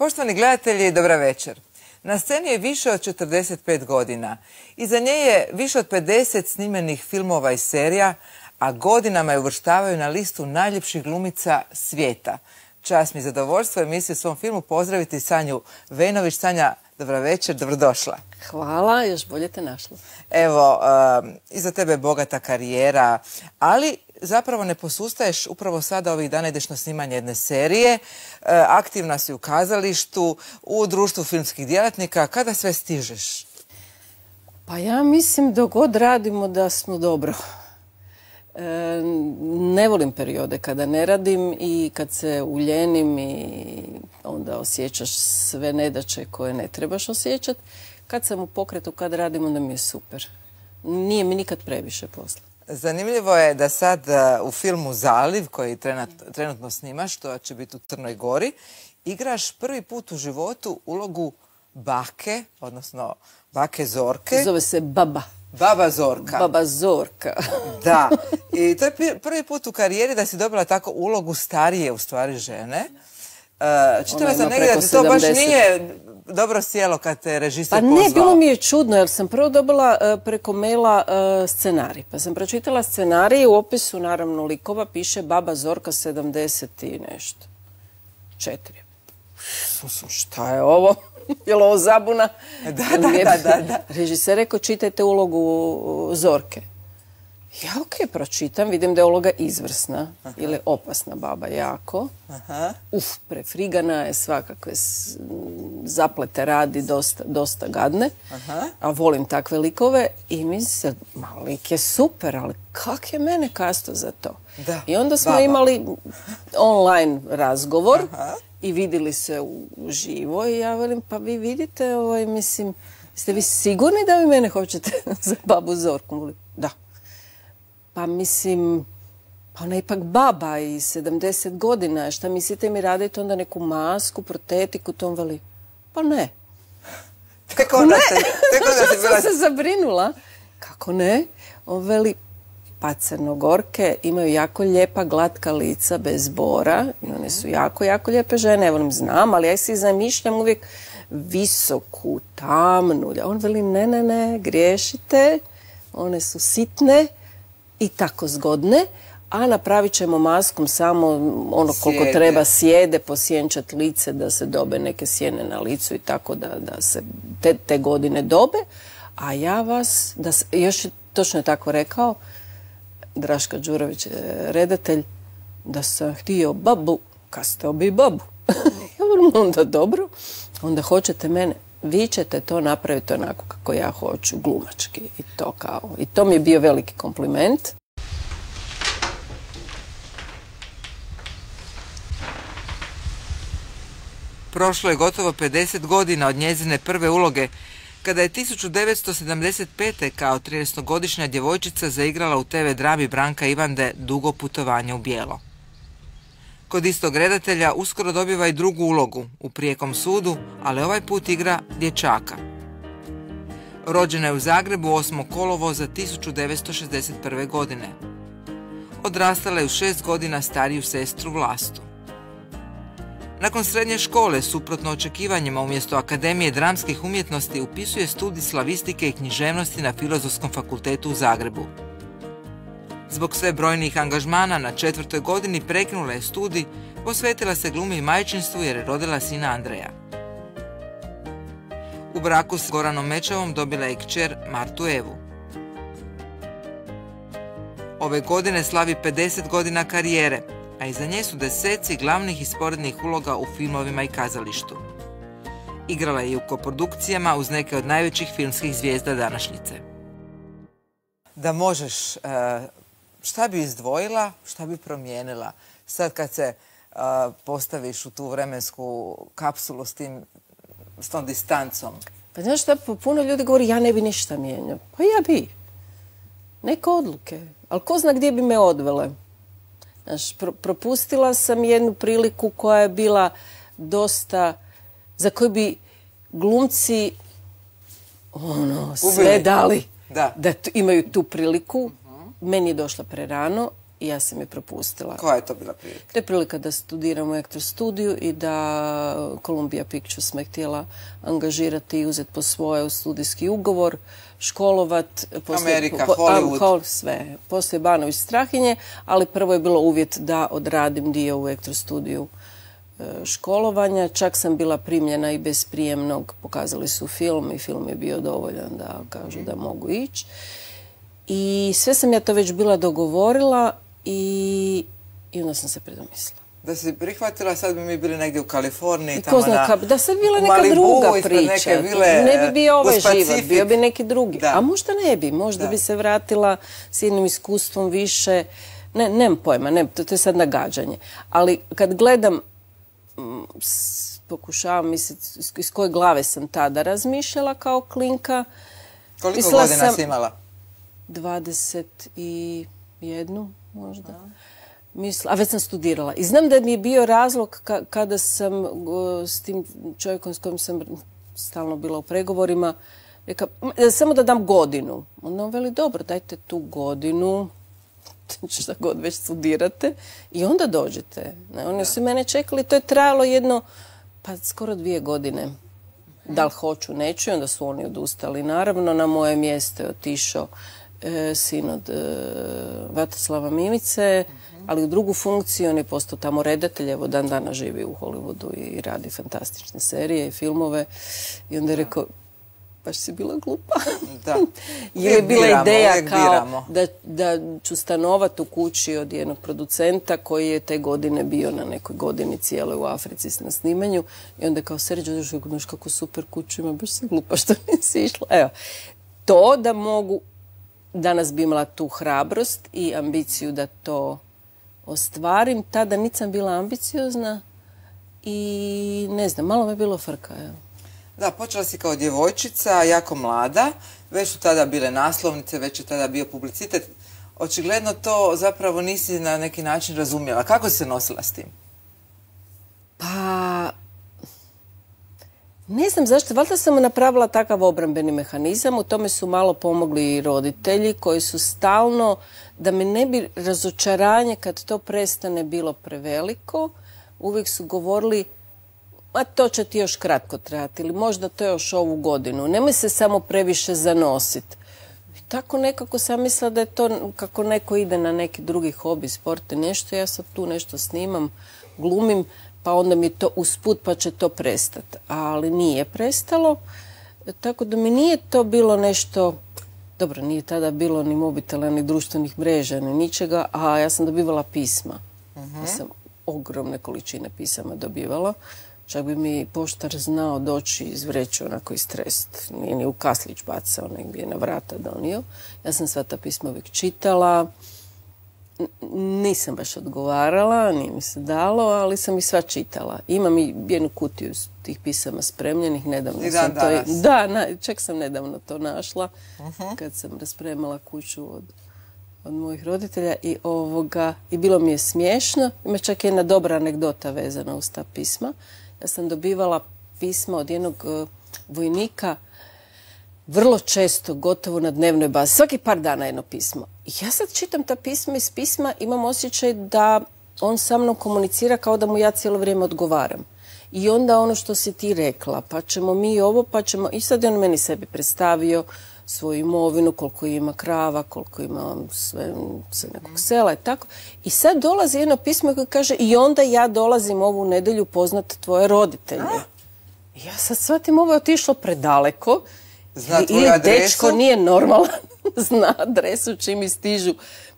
Poštovani gledatelji, dobra večer. Na sceni je više od 45 godina. Iza nje je više od 50 snimenih filmova i serija, a godinama je uvrštavaju na listu najljepših glumica svijeta. Čast mi zadovoljstvo emisiju u svom filmu pozdraviti Sanju Vejnović. Sanja, dobra večer, dobrodošla. Hvala, još bolje te našla. Evo, iza tebe je bogata karijera, ali zapravo ne posustaješ. Upravo sada ovih dana ideš na snimanje jedne serije. Aktivna si u kazalištu, u društvu filmskih djelatnika. Kada sve stižeš? Pa ja mislim dok god radimo da smo dobro. Ne volim periode kada ne radim i kad se uljenim i onda osjećaš sve nedaće koje ne trebaš osjećati. Kad sam u pokretu, kad radim, onda mi je super. Nije mi nikad previše posla. Zanimljivo je da sad u filmu Zaliv, koji trenutno snimaš, to će biti u Crnoj Gori, igraš prvi put u životu ulogu bake, odnosno bake Zorke. Zove se Baba. Baba Zorka. Baba Zorka. Da. I to je prvi put u karijeri da si dobila tako ulogu starije, u stvari, žene. Čitala sam negdje da ti to baš nije dobro sjelo kad te režiser pozvao. Pa ne, bilo mi je čudno jer sam prvo dobila preko maila scenarij. Pa sam pročitala scenarij i u opisu, naravno, likova piše Baba Zorka 70 i nešto. 4. Šta je ovo? Je li ovo zabuna? Da. Režiser rekao, čitajte ulogu Zorke. Ja pročitam, vidim da je uloga izvrsna ili opasna baba jako. Prefrigana je, svakakve zaplete radi, dosta gadne. A volim takve likove i mislim, lik je super, ali kak je mene kasto za to? I onda smo imali online razgovor i vidjeli se uživo i ja velim, pa vi vidite, mislim, ste vi sigurni da vi mene hoćete za babu Zorku? Da. Pa mislim, pa ona je ipak baba i 70 godina. Šta mislite mi radite onda neku masku, protetiku, to on veli? Pa ne. Tek onda sam se zabrinula. Kako ne? On veli, pa Crnogorke imaju jako lijepa glatka lica bez bora. I one su jako lijepe žene. Evo, znam, ali ja si zamišljam uvijek visoku, tamnu. On veli, ne, griješite. One su sitne i tako zgodne, a napravit ćemo maskom samo ono koliko treba sjede, posjenčat lice da se dobe neke sjene na licu i tako da se te godine dobe, a ja vas, još točno je tako rekao, Draška Đurović, redatelj, da sam htio babu, kastao bi babu. Ja volim, onda dobro, onda hoćete mene, vi ćete to napraviti onako kako ja hoću, glumački i to kao. I to mi je bio veliki kompliment. Prošlo je gotovo 50 godina od njezine prve uloge, kada je 1975. kao 13-godišnja djevojčica zaigrala u TV drami Branka Ivande Dugo putovanje u bijelo. Kod istog redatelja uskoro dobiva i drugu ulogu u Prijekom sudu, ali ovaj put igra dječaka. Rođena je u Zagrebu 8. kolovoza 1961. godine. Odrastala je u 6 godina stariju sestru Vlastu. Nakon srednje škole, suprotno očekivanjima, umjesto Akademije dramskih umjetnosti upisuje studij slavistike i književnosti na Filozofskom fakultetu u Zagrebu. Zbog sve brojnijih angažmana na 4. godini prekinula je studij, posvetila se glumi i majčinstvu jer je rodila sina Andreja. U braku s Goranom Mečavom dobila je kćer Martu Evu. Ove godine slavi 50 godina karijere, a iza nje su deseci glavnih i sporednih uloga u filmovima i kazalištu. Igrala je i u koprodukcijama uz neke od najvećih filmskih zvijezda današnjice. Da možeš, šta bi izdvojila, šta bi promijenila sad kad se postaviš u tu vremensku kapsulu s tom distancom? Pa znaš šta, puno ljudi govori ja ne bi ništa mijenjao. Pa ja bi. Neke odluke. Ali ko zna gdje bi me odvele? Znaš, propustila sam jednu priliku koja je bila dosta, za koju bi glumci sve dali da imaju tu priliku. Meni je došla prerano i ja sam je propustila. Koja je to bila prilika? To je prilika da studiram u Actor studiju i da Columbia Pictures me htjela angažirati i uzeti po svoje studijski ugovor, školovat. Amerika, Hollywood. Sve. Poslije Banović Strahinje, ali prvo je bilo uvjet da odradim dio u Actor studiju školovanja. Čak sam bila primljena i bez prijemnog. Pokazali su film i film je bio dovoljan da kažu da mogu ići. I sve sam ja to već bila dogovorila i onda sam se predomislila. Da si prihvatila, sad bi mi bili negdje u Kaliforniji, da sad bila neka druga priča. Ne bi bio ovaj život, bio bi neki drugi. A možda ne bi, možda bi se vratila s jednim iskustvom više. Nemam pojma, to je sad nagađanje. Ali kad gledam, pokušavam misliti iz koje glave sam tada razmišljala kao klinka. Koliko godina si imala? 21 možda. A već sam studirala. I znam da mi je bio razlog kada sam s tim čovjekom s kojim sam stalno bila u pregovorima, rekao, samo da dam godinu. Onda on veli, dobro, dajte tu godinu, šta god već studirate, i onda dođete. Oni su mene čekali, to je trajalo skoro 2 godine. Da li hoću, neću, i onda su oni odustali. Naravno, na moje mjesto je otišao sin od Vatroslava Mimice, ali u drugu funkciju. On je postao tamo redatelj, evo dan dana živi u Hollywoodu i radi fantastične serije i filmove. I onda je rekao, baš si bila glupa. Jer je bila ideja kao da ću stanovati u kući od jednog producenta koji je te godine bio na nekoj godini cijeloj u Africi na snimanju. I onda je kao, Serđo, znaš kako super kuću ima, baš si glupa što nisi išla. Evo, to da mogu, danas bi imala tu hrabrost i ambiciju da to ostvarim. Tada nisam bila ambiciozna i ne znam, malo me je bilo frka. Da, počela si kao djevojčica, jako mlada, već su tada bile naslovnice, već je tada bio publicitet. Očigledno to zapravo nisi na neki način razumjela. Kako si se nosila s tim? Pa, ne znam zašto, valjda sam napravila takav obrambeni mehanizam, u tome su malo pomogli i roditelji koji su stalno, da me ne bi razočaranje kad to prestane bilo preveliko, uvijek su govorili, a to će ti još kratko trajati ili možda to još ovu godinu, nemoj se samo previše zanositi. I tako nekako sam mislila da je to kako neko ide na neki drugi hobi, sport i nešto, ja sad tu nešto snimam, glumim, pa onda mi to usput pa će to prestati. Ali nije prestalo, tako da mi nije to bilo nešto, dobro, nije tada bilo ni mobitela, ni društvenih mreža, ni ničega, a ja sam dobivala pisma. Ja sam ogromne količine pisama dobivala. Čak bi mi poštar znao doći iz vreće onako istrest. Nije ni u kaslić bacao, nek bi je na vrata donio. Ja sam sva ta pisma uvijek čitala. Nisam baš odgovarala, nije mi se dalo, ali sam i sva čitala. Imam i jednu kutiju tih pisama spremljenih. Nedavno sam to... Da, čak sam nedavno to našla kad sam raspremala kuću od mojih roditelja i bilo mi je smiješno. Ima čak jedna dobra anegdota vezana uz ta pisma. Ja sam dobivala pisma od jednog vojnika vrlo često, gotovo na dnevnoj bazi. Svaki par dana jedno pismo. I ja sad čitam ta pisma iz pisma, imam osjećaj da on sa mnom komunicira kao da mu ja cijelo vrijeme odgovaram. I onda ono što si ti rekla, pa ćemo mi ovo, pa ćemo... I sad je on meni sebi predstavio svoju imovinu, koliko ima krava, koliko ima sve sa nekog sela i tako. I sad dolazi jedno pismo koje kaže i onda ja dolazim ovu nedjelju poznat tvoje roditelje. I ja sad shvatim, ovo je otišlo predaleko. Zna tvoju adresu? Dečko nije normalan, zna adresu čim mi stižu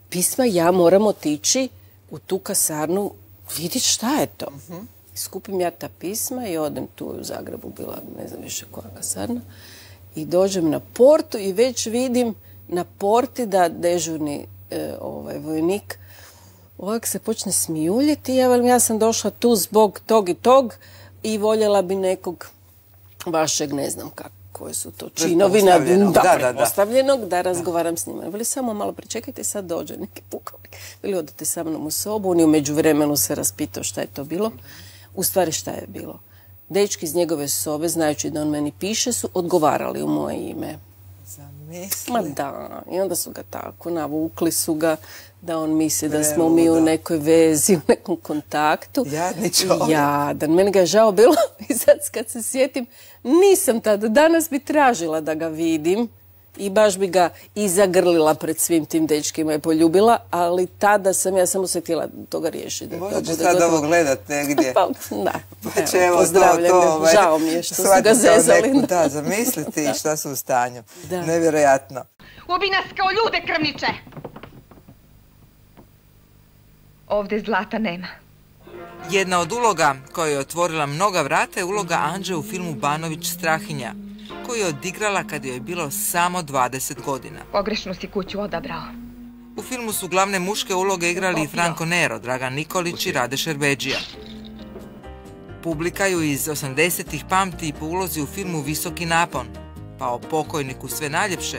pisma, ja moram otići u tu kasarnu, vidjeti šta je to. Skupim ja ta pisma i odem tu u Zagrebu, bila ne znam više koja kasarna, i dođem na portu i već vidim na porti da dežurni vojnik ovak se počne smijuljiti. Ja sam došla tu zbog tog i tog i voljela bi nekog vašeg, ne znam kako, koje su to činovi, pretpostavljenog, da razgovaram s njima. Veli, samo malo pričekajte, sad dođe neki pukovnik. Veli, odete sa mnom u sobu, on je u međuvremenu se raspitao šta je to bilo. U stvari šta je bilo? Dečki iz njegove sobe, znajući da on meni piše, su odgovarali u moje ime. Zamisli. Ma da, i onda su ga tako, navukli su ga da on misli da smo mi u nekoj vezi, u nekom kontaktu. Jadni čovjek. Jadan, meni ga je žao bilo i sad kad se sjetim, nisam tada, danas bi tražila da ga vidim i baš bi ga i zagrlila pred svim tim dečkima i poljubila, ali tada sam ja samo se htjela toga riješiti. Možda će sad ovo gledat negdje. Pa, da, pozdravljam ga. Žao mi je što su ga zezali. Da, zamisliti šta su u stanju. Nevjerojatno. Ubi nas kao ljude, krvniče! Ovdje zlata nema. Jedna od uloga koja je otvorila mnoga vrata je uloga Anđe u filmu Banović Strahinja, koju je odigrala kad joj je bilo samo 20 godina. Pogrešnu si kuću odabrao. U filmu su glavne muške uloge igrali i Franco Nero, Dragan Nikolić i Rade Šerbedžija. Publika ju iz 80-ih pamti po ulozi u filmu Visoki napon, pa o pokojniku sve najljepše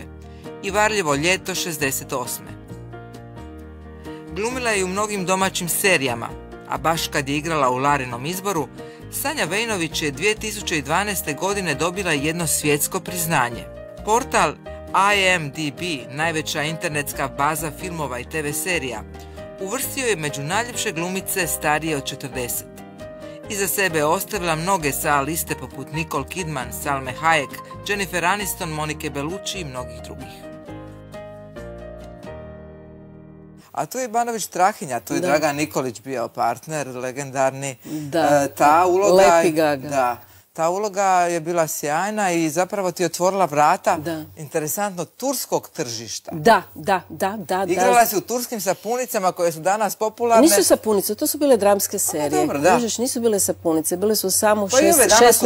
i Varljivo ljeto 68. Glumila je u mnogim domaćim serijama, a baš kad je igrala u Larinom izboru, Sanja Vejnović je 2012. godine dobila jedno svjetsko priznanje. Portal IMDb, najveća internetska baza filmova i TV serija, uvrstio je među najljepše glumice starije od 40. Iza sebe je ostavila mnoge sa liste poput Nicole Kidman, Salme Hayek, Jennifer Aniston, Monike Bellucci i mnogih drugih. A tu je Banović Strahinja, tu je Dragan Nikolić bio partner, legendarni. Da, Lepi Gaga. Da, ta uloga je bila sjajna i zapravo ti je otvorila vrata, interesantno, turskog tržišta. Da. Igrala si u turskim sapunicama koje su danas popularne. Nisu sapunice, to su bile dramske serije. Dobro, da. Nisu bile sapunice, bile su samo šest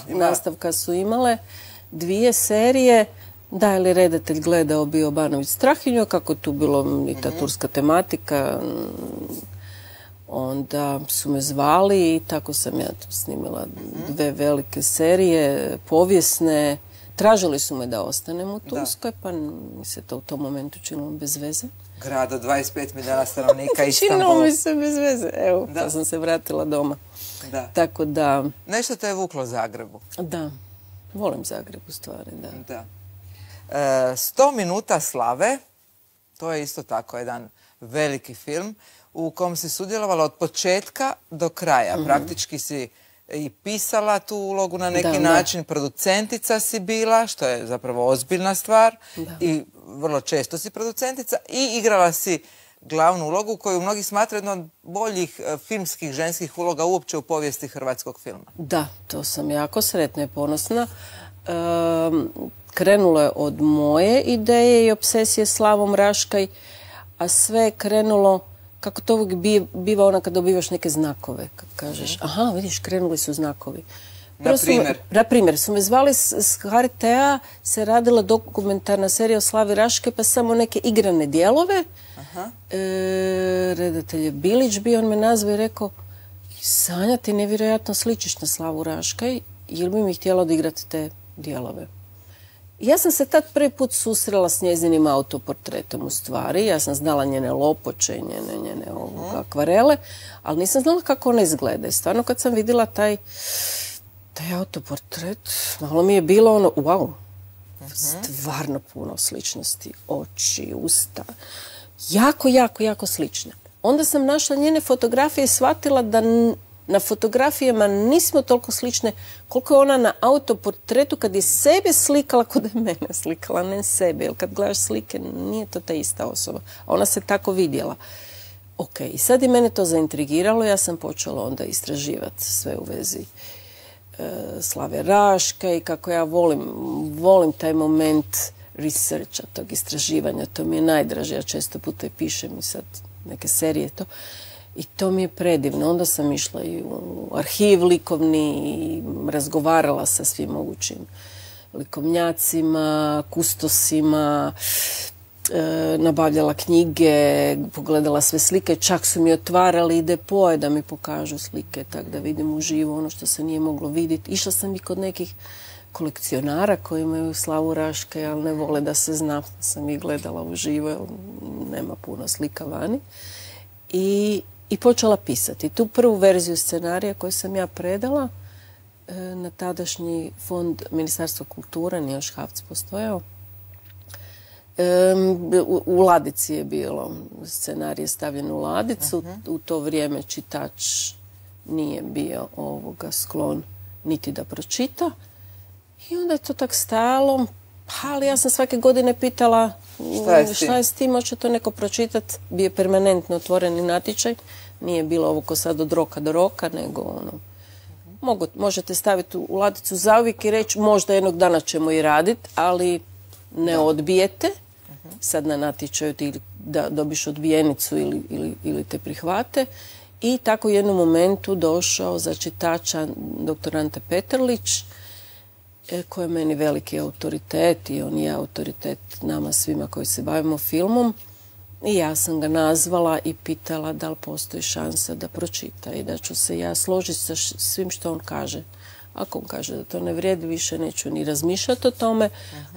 nastavka su imale, 2 serije. Da, ili redatelj gledao bio Banović Strahinju, kako tu bilo i ta turska tematika, onda su me zvali i tako sam ja tu snimila 2 velike serije, povijesne. Tražili su me da ostanem u Turskoj, pa mi se to u tom momentu činilo bez veze. Grad od 25 milijuna stanovnika, Istanbul. Činilo mi se bez veze, evo, pa sam se vratila doma. Tako da... Nešto te je vuklo Zagrebu. Da, volim Zagreb u stvari, da. 100 minuta slave, to je isto tako jedan veliki film u kom si sudjelovala od početka do kraja. Praktički si i pisala tu ulogu na neki način, producentica si bila, što je zapravo ozbiljna stvar i vrlo često si producentica i igrala si glavnu ulogu koju mnogi smatraju jednom od boljih filmskih ženskih uloga uopće u povijesti hrvatskog filma. Da, to sam jako sretna i ponosna. Krenulo je od moje ideje i obsesije Slavom Raškaj, a sve je krenulo, kako to uvijek biva ona kad dobivaš neke znakove, kad kažeš, aha, vidiš, krenuli su znakovi. Na primjer, su me zvali s HRT-a, se radila dokumentarna serija o Slavi Raškaj, pa samo neke igrane dijelove. Redatelj je Bilić bio, on me nazvao i rekao, Sanja, ti nevjerojatno sličiš na Slavu Raškaj, jel bi mi htjela odigrati te dijelove? Ja sam se tad prvi put susrela s njezinim autoportretom u stvari. Ja sam znala njene lopoče i njene akvarele, ali nisam znala kako ona izgleda. I stvarno kad sam vidjela taj autoportret, malo mi je bilo ono, wow, stvarno puno sličnosti, oči, usta, jako slične. Onda sam našla njene fotografije i shvatila da na fotografijama nismo toliko slične koliko je ona na autoportretu kad je sebe slikala kod je mene slikala, ne sebe. Jer kad gledaš slike nije to ta ista osoba. Ona se tako vidjela. Ok, i sad je mene to zaintrigiralo. Ja sam počela onda istraživati sve u vezi Slave Raškaj i kako ja volim taj moment researcha, tog istraživanja. To mi je najdraže. Ja često puta i pišem i sad neke serije to. I to mi je predivno. Onda sam išla i u arhiv likovni i razgovarala sa svim mogućim likovnjacima, kustosima, nabavljala knjige, pogledala sve slike, čak su mi otvarali i depoje da mi pokažu slike, tako da vidim uživo ono što se nije moglo vidjeti. Išla sam i kod nekih kolekcionara koji imaju Slavu Raškaj, ali ne vole da se zna. Sam ih gledala uživo, jer nema puno slika vani. I počela pisati. Tu prvu verziju scenarija koju sam ja predala, na tadašnji fond Ministarstva kulture, nije još HAVC postojao. U ladici je bilo, scenarij je stavljen u ladicu, u to vrijeme čitač nije bio sklon niti da pročita. I onda je to tak stajalo, ali ja sam svake godine pitala šta je s tim, hoće to neko pročitati. Bio je permanentno otvoreni natječaj, nije bilo ovo ko sad od roka do roka, nego možete staviti u ladicu zauvijek i reći možda jednog dana ćemo i raditi, ali ne odbijete. Sad na natječaju ti da dobiš odbijenicu ili te prihvate. I tako u jednom momentu došao za čitača dr. Ante Petrlić, koji je meni veliki autoritet i on je autoritet nama svima koji se bavimo filmom. I ja sam ga nazvala i pitala da li postoji šansa da pročita i da ću se ja složiti sa svim što on kaže. Ako on kaže da to ne vrijedi, više neću ni razmišljati o tome.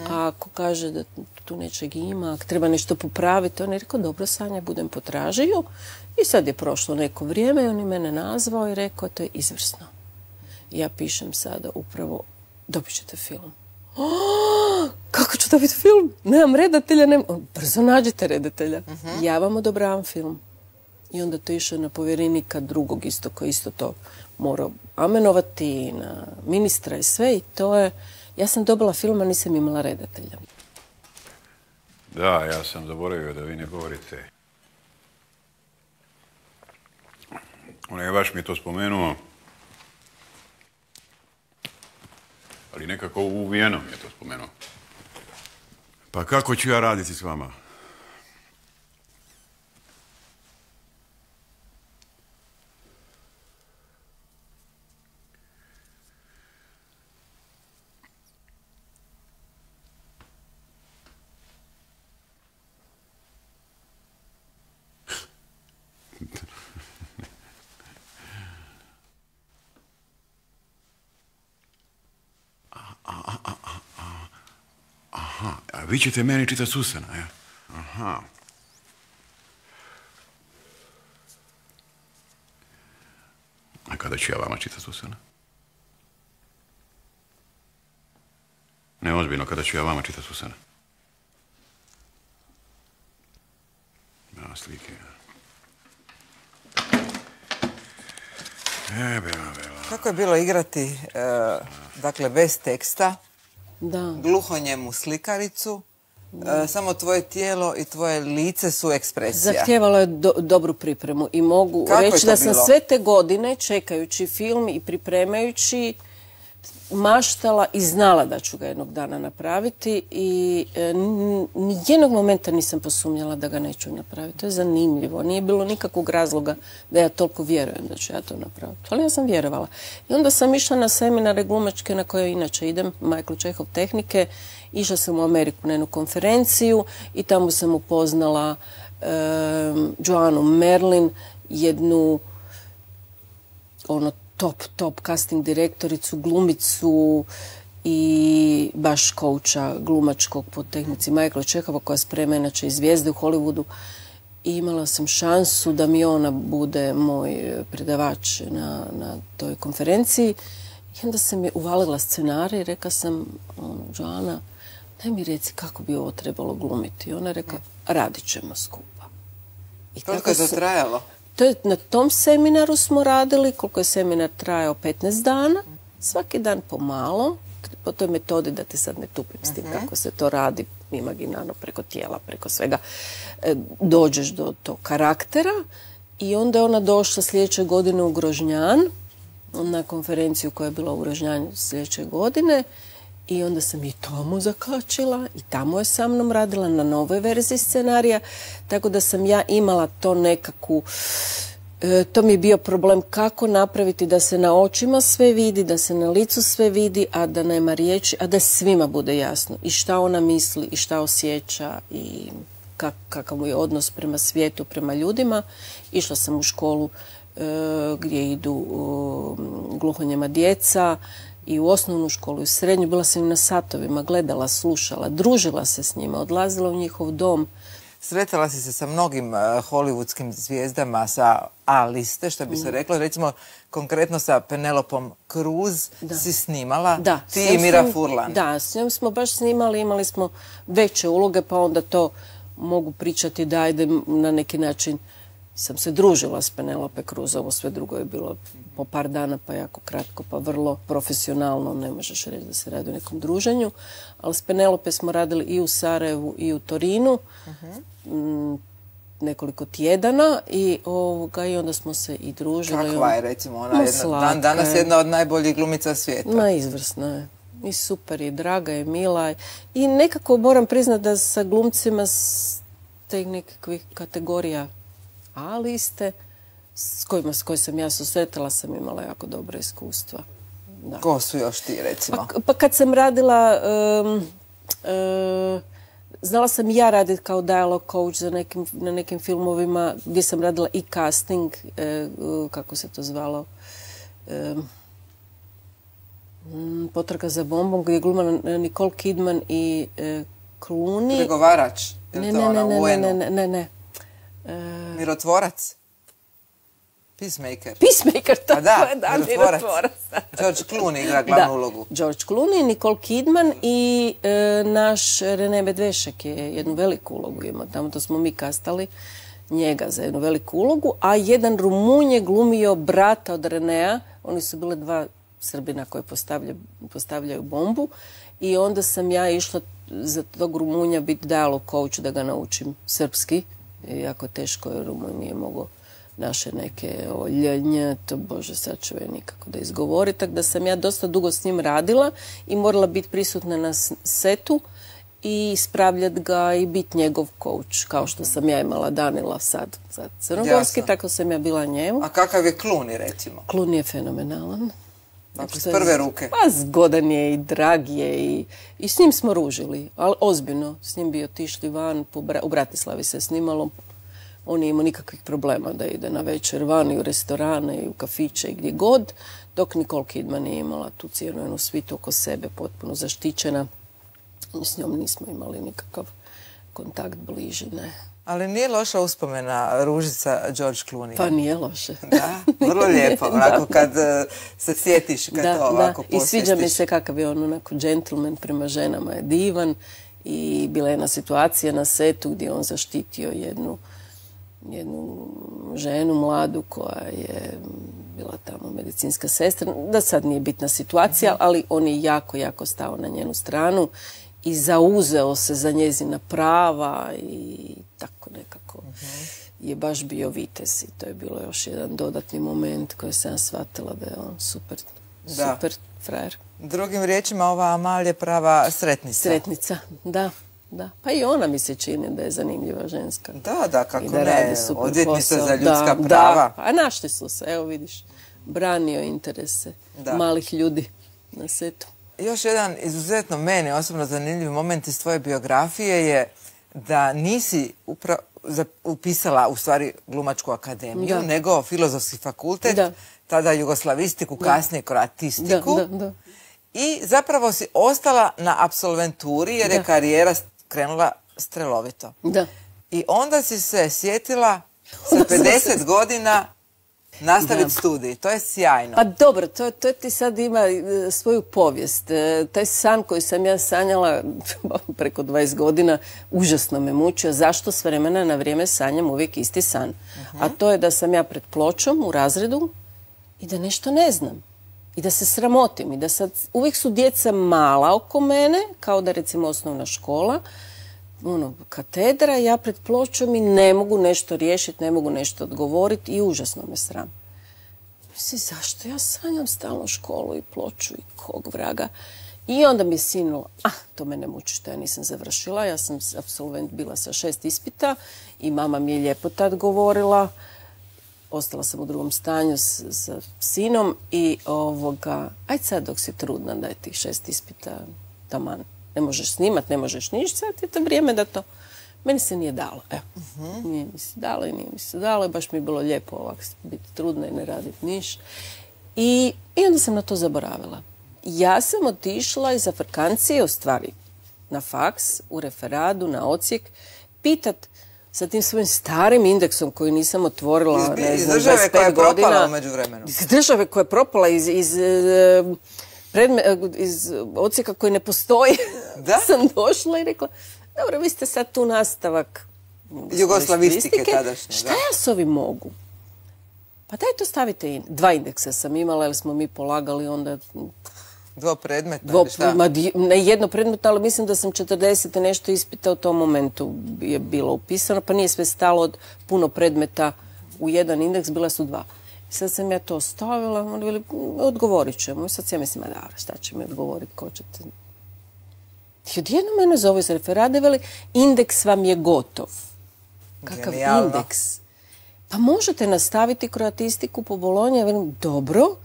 A ako kaže da tu nečeg ima, ako treba nešto popraviti, on je rekao, dobro Sanja, budem potražio. I sad je prošlo neko vrijeme i on je mene nazvao i rekao, to je izvrsno. Ja pišem sada upravo, dobit ćete film. Kako ću dobiti film? Nemam redatelja, brzo nađite redatelja. Ja vam odobravam film. I onda to išao na povjerenika drugog isto, koji isto to morao amenovati, na ministra i sve. I to je, ja sam dobila film, a nisam imala redatelja. Da, ja sam zaboravio da vi ne govorite. Onaj vaš mi je to spomenuo. Ali nekako uvijeno mi je to spomenuo. Pa kako ću ja raditi s vama? Aha, a vi ćete meni čitati Susana, ja? Aha. A kada ću ja vama čitati Susana? Ne, ozbiljno, kada ću ja vama čitati Susana? Ja, slike. Bela. Kako je bilo igrati, dakle, bez teksta, gluhonjemu slikaricu, samo tvoje tijelo i tvoje lice su ekspresija? Zahtijevalo je dobru pripremu i mogu reći da sam sve te godine, čekajući film i pripremajući, maštala i znala da ću ga jednog dana napraviti i nijednog momenta nisam posumnjala da ga neću napraviti. To je zanimljivo. Nije bilo nikakvog razloga da ja toliko vjerujem da ću ja to napraviti. Ali ja sam vjerovala. I onda sam išla na seminare glumačke na koje inače idem, Michael Čehov tehnike. Išla sam u Ameriku na jednu konferenciju i tamo sam upoznala Joannu Merlin, jednu top casting direktoricu, glumicu i baš kouča glumačkog po tehnici Michaela Čehova, koja sprema inače i zvijezde u Hollywoodu. I imala sam šansu da mi ona bude moj predavač na toj konferenciji. I onda sam je uvalila scenarij i rekla sam, Joanna, daj mi reci kako bi ovo trebalo glumiti. I ona je rekla, radit ćemo skupa. Koliko je to trajalo? Na tom seminaru smo radili, koliko je seminar trajao, 15 dana, svaki dan pomalo, po toj metodi, da te sad ne tupim s tim kako se to radi, imaginarno, preko tijela, preko svega, dođeš do tog karaktera. I onda je ona došla sljedeće godine u Grožnjan, na konferenciju koja je bila u Grožnjanju sljedeće godine, i onda sam i tamo zakačila i tamo je sa mnom radila na novoj verziji scenarija, tako da sam ja imala to nekakvu, to mi je bio problem kako napraviti da se na očima sve vidi, da se na licu sve vidi, a da nema riječi, a da svima bude jasno i šta ona misli i šta osjeća i kakav mu je odnos prema svijetu, prema ljudima. Išla sam u školu gdje idu gluhonijema djeca, i u osnovnu školu i u srednju. Bila sam im na satovima, gledala, slušala, družila se s njima, odlazila u njihov dom. sretala si se sa mnogim hollywoodskim zvijezdama sa A liste, što bi se reklo. Recimo, konkretno sa Penelopom Cruz si snimala, ti i Mira Furlan. Da, s njom smo baš snimali, imali smo veće uloge, pa onda to mogu pričati da ajde na neki način sam se družila s Penelope Cruz, ovo sve drugo je bilo po par dana, pa jako kratko, pa vrlo profesionalno, ne možeš reći da se radi o nekom druženju, ali s Penelope smo radili i u Sarajevu i u Torinu, nekoliko tjedana i onda smo se i družili. Kakva je, recimo, ona danas jedna od najboljih glumica svijeta? Ma, izvrsna je. I super, i draga, i mila. I nekako moram priznati da sa glumcima s tih nekakvih kategorija A liste, s kojima sam ja susretala, sam imala jako dobra iskustva. Ko su još ti, recimo? Pa kad sam radila, znala sam ja raditi kao dialog coach na nekim filmovima gdje sam radila i casting, kako se to zvalo, Potraga za bombom, gdje je glumala Nicole Kidman i Clooney. Pregovarač? Ne. Mirotvorac? Peacemaker? Peacemaker, to je, da, Mirotvorac. George Clooney igra glavnu ulogu. George Clooney, Nicole Kidman i naš René Medvešek je jednu veliku ulogu imao. Tamo to smo mi kastali njega za jednu veliku ulogu, a jedan Rumun je glumio brata od Renea. Oni su bile dva Srbina koje postavljaju bombu i onda sam ja išla za tog Rumunja biti dialog coach da ga naučim srpski. Jako teško je, Rumun nije mogao naše neke oljenje, to bože sad čuje nikako da izgovori, tako da sam ja dosta dugo s njim radila i morala biti prisutna na setu i ispravljati ga i biti njegov coach, kao što sam ja imala Danila sad crnogorski, tako sam ja bila njemu. A kakav je Clooney, recimo? Clooney je fenomenalan. Dakle, s prve ruke. Pa zgodan je i drag je i s njim smo ružili, ali ozbiljno. S njim bi otišli van, u Bratislavi se snimalo. On nije imao nikakvih problema da ide na večer van i u restorane i u kafiće i gdje god, dok Nicole Kidman nije imala tu cijelu jednu svitu oko sebe, potpuno zaštićena. S njom nismo imali nikakav kontakt bliži, ne. Ali nije loša uspomena ružica George Clooney. Pa nije loše. Da, vrlo lijepo, onako kad se sjetiš, kad to ovako posvjestiš. I sviđa mi se kakav je on onako gentleman prema ženama, je divan. I bila je jedna situacija na setu gdje on zaštitio jednu ženu mladu koja je bila tamo medicinska sestra. Da sad nije bitna situacija, ali on je jako, jako stao na njenu stranu i zauzeo se za njezina prava i tako nekako je baš bio vitez i to je bilo još jedan dodatni moment koji sam shvatila da je on super frajer. Drugim riječima, ova Amal je prava sretnica. Sretnica, da. Pa i ona mi se čini da je zanimljiva ženska. Da, kako ne, odvjetnica za ljudska prava. A našli su se, evo vidiš, branio interese malih ljudi na setu. Još jedan izuzetno meni osobno zanimljiv moment iz tvoje biografije je da nisi upisala u stvari glumačku akademiju, nego filozofski fakultet, tada jugoslavistiku, kasnije kroatistiku. I zapravo si ostala na apsolventuri jer je karijera krenula strelovito. I onda si se sjetila sa 50 godina nastaviti studij. To je sjajno. Pa dobro, to ti sad ima svoju povijest. Taj san koji sam ja sanjala preko 20 godina užasno me mučio. Zašto s vremena na vrijeme sanjam uvijek isti san? A to je da sam ja pred pločom u razredu i da nešto ne znam. I da se sramotim. I da sad uvijek su djeca mala oko mene, kao da recimo osnovna škola, katedra, ja pred pločom i ne mogu nešto riješiti, ne mogu nešto odgovoriti i užasno me sram. Mislim, zašto ja sanjam stalno školu i ploču i kog vraga? I onda mi je sinulo, to me ne muči što ja nisam završila, ja sam apsolvent bila sa 6 ispita i mama mi je lijepo tad govorila. Ostala sam u drugom stanju sa sinom i ajde sad dok si trudna daj tih 6 ispita taman. Ne možeš snimat, ne možeš ništa, sad je to vrijeme da to... Meni se nije dalo, evo. Nije mi se dalo i nije mi se dalo i baš mi je bilo lijepo ovako biti trudna i ne raditi ništa. I onda sam na to zaboravila. Ja sam otišla iz Afrikancije, u stvari na faks, u referadu, na odsjek, pitat sa tim svojim starim indeksom koji nisam otvorila, ne znam, 25 godina. Iz države koja je propala u međuvremenu. Iz države koja je propala, iz odsjeka koji ne postoji. Da? Sam došla i rekla, dobro, vi ste sad tu nastavak jugoslavistike tadašnje. Šta ja s ovim mogu? Pa daj to stavite 2 indeksa sam imala, jer smo mi polagali onda... 2 predmeta? Ne jedno predmeta, ali mislim da sam 40 nešto ispita u tom momentu je bilo upisano, pa nije sve stalo od puno predmeta u jedan indeks, bila su 2. I sad sam ja to ostavila, onda bili, odgovorit ćemo. I sad sam ja mislim, da, šta će mi odgovoriti, ko ćete... I odjedno mene zove iz referade, veli, indeks vam je gotov. Kakav indeks? Pa možete nastaviti kroatistiku po Bolonji, velim, dobro,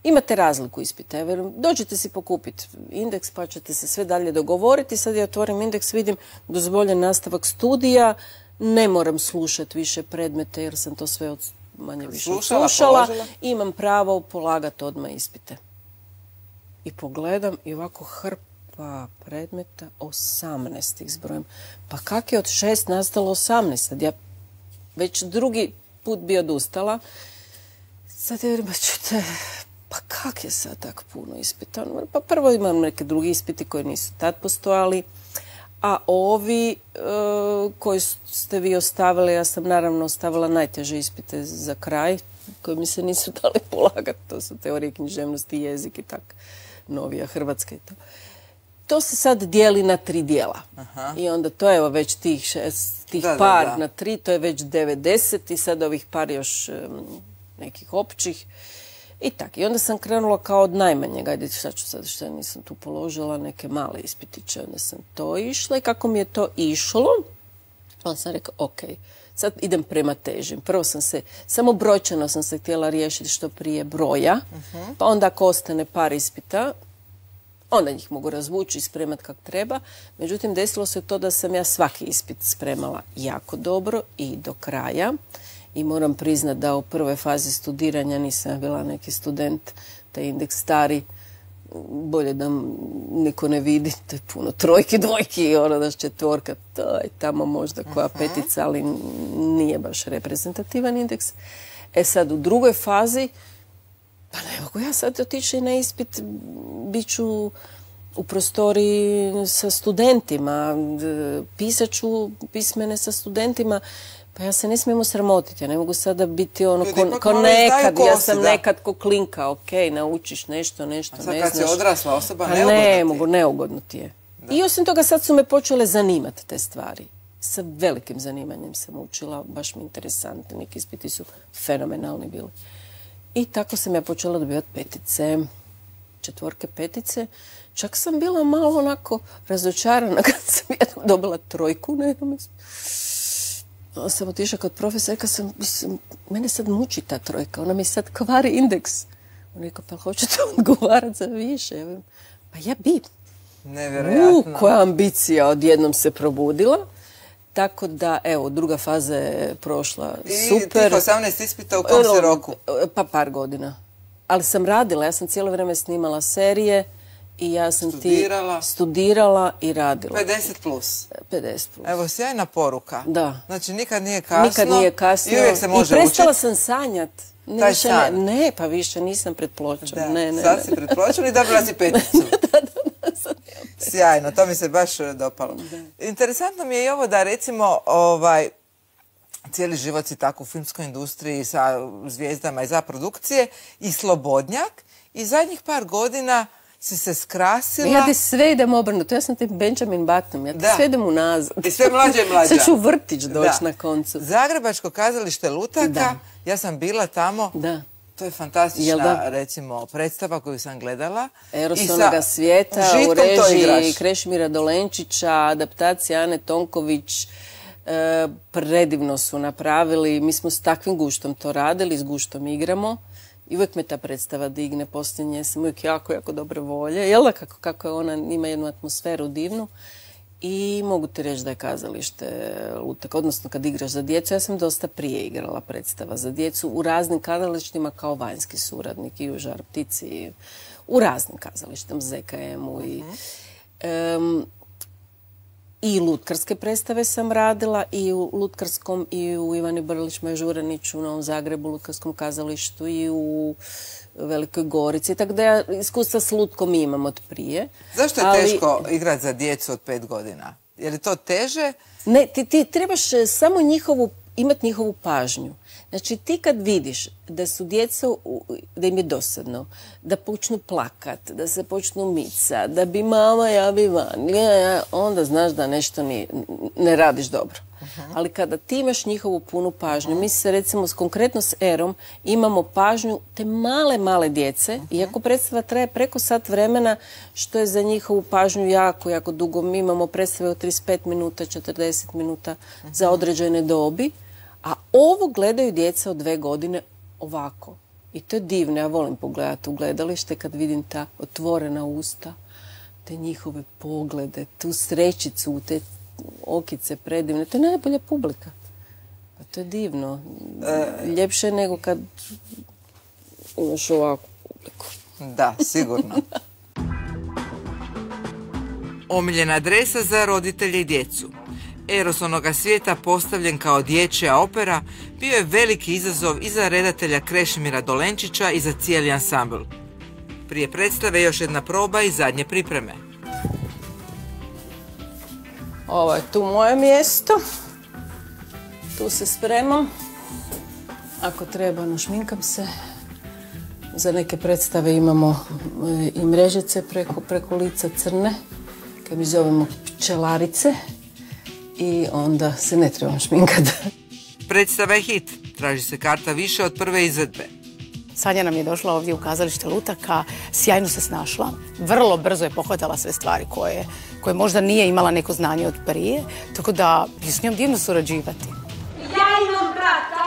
imate razliku ispita. Velim, dođete si pokupiti indeks pa ćete se sve dalje dogovoriti. Sad ja otvorim indeks, vidim dozvoljen nastavak studija, ne moram slušati više predmete jer sam to sve manje više slušala. Imam pravo polagati odmah ispite. I pogledam i ovako hrpa predmeta, 18 ih zbrojim. Pa kak je od 6 nastalo 18? Sad ja već drugi put bi odustala. Sad je čujte, pa kak je sad tako puno ispita? Pa prvo imam neke drugi ispiti koji nisu tad postojali, a ovi koji ste vi ostavili, ja sam naravno ostavila najteže ispite za kraj, koji mi se nisu dali polagati. To su teorije književnosti, jezik i tak, novija Hrvatska i to. To se sad dijeli na 3 dijela. Aha. I onda to je već tih par na 3, to je već 90 i sad ovih par još nekih općih. I tako. I onda sam krenula kao od najmanjeg. Ajde, šta ću sad, šta nisam tu položila, neke male ispitiće. Onda sam to išla i kako mi je to išlo, onda sam rekla, ok, sad idem prema težim. Prvo sam se, samo brojčano sam se htjela riješiti što prije broja, pa onda ako ostane par ispita, onda njih mogu razvući i spremati kako treba. Međutim, desilo se to da sam ja svaki ispit spremala jako dobro i do kraja. I moram priznati da u prvoj fazi studiranja nisam bila neki student, taj indeks stari, bolje da niko ne vidi, to je puno trojki, dvojki i ono daš 4, to je tamo možda koja 5, ali nije baš reprezentativan indeks. E sad u drugoj fazi, pa ne mogu ja sad otići na ispit, bit ću u prostoriji sa studentima, pisat ću pismene sa studentima, pa ja se ne smijem osramotiti, ja ne mogu sada biti ono ko nekad, ja sam nekad ko klinka, ok, naučiš nešto, ne znaš. A sad kad si odrasla osoba, ne mogu, neugodno ti je. I osim toga sad su me počele zanimati te stvari. Sa velikim zanimanjem sam učila, baš mi interesantni, neki ispiti su fenomenalni bili. I tako sam ja počela dobivati 5, 4, 5. Čak sam bila malo onako razočarana kad sam jednom dobila 3 na jednom mjestu. Onda sam otišla kod profesora, rekla sam, mene sad muči ta 3, ona mi sad kvari indeks. On rekao, pa hoćete odgovarati za više? Pa ja bi. Nevjerojatno. Koja ambicija odjednom se probudila. Tako da, evo, druga faza je prošla super. I tih 18 ispita u kom si roku? Pa par godina. Ali sam radila, ja sam cijelo vrijeme snimala serije i ja sam studirala i radila. 50 plus. 50 plus. Evo, sjajna poruka. Da. Znači, nikad nije kasno. Nikad nije kasno. I uvijek se može učiti. I prestala sam sanjat. Taj san. Ne, pa više nisam pred pločom. Sad si pred pločom i dobila si 5. Sjajno, to mi se baš dopalo. Interesantno mi je i ovo da recimo cijeli život si tako u filmskoj industriji sa zvijezdama i za produkcije i slobodnjak i zadnjih par godina si se skrasila. Ja ti sve idem obrnuto, ja sam ti Benjamin Button, ja ti sve idem unazad. I sve mlađa i mlađa. Sad ću vrtić doći na koncu. Zagrebačko kazalište Lutaka, ja sam bila tamo. Da. To je fantastična, recimo, predstava koju sam gledala. Eros onoga svijeta u režiji Krešimira Dolenčića, adaptacija Ane Tonković. Predivno su napravili. Mi smo s takvim guštom to radili, s guštom igramo. I uvijek me ta predstava digne, posljednje sam uvijek jako, jako dobre volje. Jel da kako ona ima jednu atmosferu divnu. I mogu ti reći da je kazalište Lutaka, odnosno kad igraš za djecu, ja sam dosta prije igrala predstava za djecu u raznim kazalištima kao vanjski suradnik i u Žar ptici, u raznim kazalištima, ZKM-u I lutkarske predstave sam radila i u Lutkarskom i u Ivani Brlić-Mažuranić u Novom Zagrebu, Lutkarskom kazalištu i u Velikoj Gorici. Tako da ja iskustva s lutkom imam od prije. Zašto je teško igrati za djecu od 5 godina? Je li to teže? Ne, ti trebaš samo imati njihovu pažnju. Znači ti kad vidiš da su djeca, da im je dosadno, da počnu plakat, da se počnu mica, da bi mama javi van, onda znaš da nešto ne radiš dobro. Ali kada ti imaš njihovu punu pažnju, mi se recimo konkretno s Erom imamo pažnju te male djece, iako predstava traje preko sat vremena, što je za njihovu pažnju jako dugo. Mi imamo predstave od 35 minuta, 40 minuta za određene dobi. A ovo gledaju djeca od 2 godine ovako. I to je divno. Ja volim pogledati u gledalište kad vidim ta otvorena usta, te njihove poglede, tu srećicu, te okice predivne. To je najbolja publika. Pa to je divno. Ljepše nego kad imaš ovakvu publiku. Da, sigurno. Omiljena adresa za roditelje i djecu. Eros onoga svijeta, postavljen kao dječja opera, bio je veliki izazov i za redatelja Krešimira Dolenčića i za cijeli ansambl. Prije predstave još jedna proba i zadnje pripreme. Ovo je tu moje mjesto. Tu se spremam. Ako treba, našminkam se. Za neke predstave imamo i mrežice preko lica crne, kad mi zovemo pčelarice. I onda se ne trebam šminkati. Predstava je hit. Traži se karta više od prve izvedbe. Sanja nam je došla ovdje u kazalište Lutaka, sjajno se snašla, vrlo brzo je pohvatala sve stvari koje možda nije imala neko znanje od prije, tako da je s njom divno surađivati. Ja imam brata.